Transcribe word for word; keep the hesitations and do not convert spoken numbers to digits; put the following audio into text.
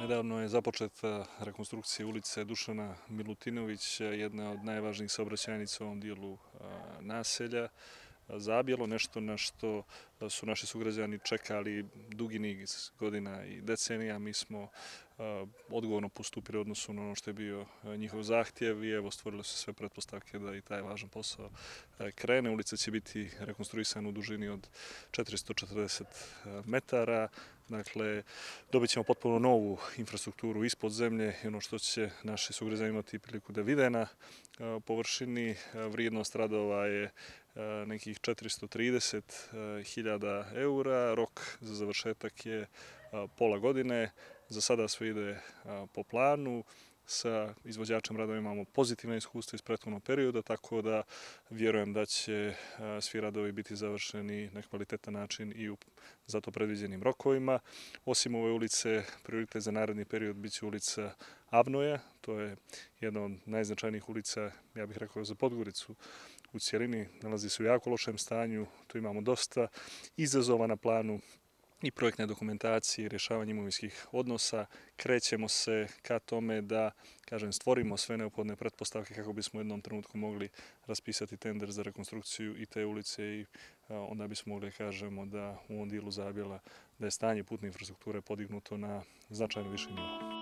Nedavno je započeta rekonstrukcija ulice Dušana Milutinovića, jedna od najvažnijih saobraćajnica u ovom dijelu naselja. Zabjelo, nešto na što su naši sugrađani čekali dugi niz godina i decenija. Mi smo odgovorno postupili u odnosu na ono što je bio njihov zahtjev i evo stvorile su sve pretpostavke da i taj važan posao krene. Ulica će biti rekonstruisana u dužini od četiristo četrdeset metara. Dakle, dobit ćemo potpuno novu infrastrukturu ispod zemlje i ono što će naši sugrađani imati priliku da vide na površini. Vrijednost radova je nekih četiristo trideset hiljada eura. Rok za završetak je pola godine. Za sada sve ide po planu. Sa izvođačem radova imamo pozitivna iskustva iz prethodnog perioda, tako da vjerujem da će svi radovi biti završeni na kvalitetan način i u zato predviđenim rokovima. Osim ove ulice, prioritet za naredni period biće ulica Avnoja. To je jedna od najznačajnijih ulica, ja bih rekao, za Podgoricu u cijelini. Nalazi se u jako lošem stanju, tu imamo dosta izazova na planu i projektne dokumentacije i rješavanje imovinskih odnosa. Krećemo se ka tome da, kažem, stvorimo sve neophodne pretpostavke kako bismo u jednom trenutku mogli raspisati tender za rekonstrukciju i te ulice i onda bismo mogli kažemo da u ovom dijelu Zabjela da je stanje putne infrastrukture podignuto na značajno viši nivo.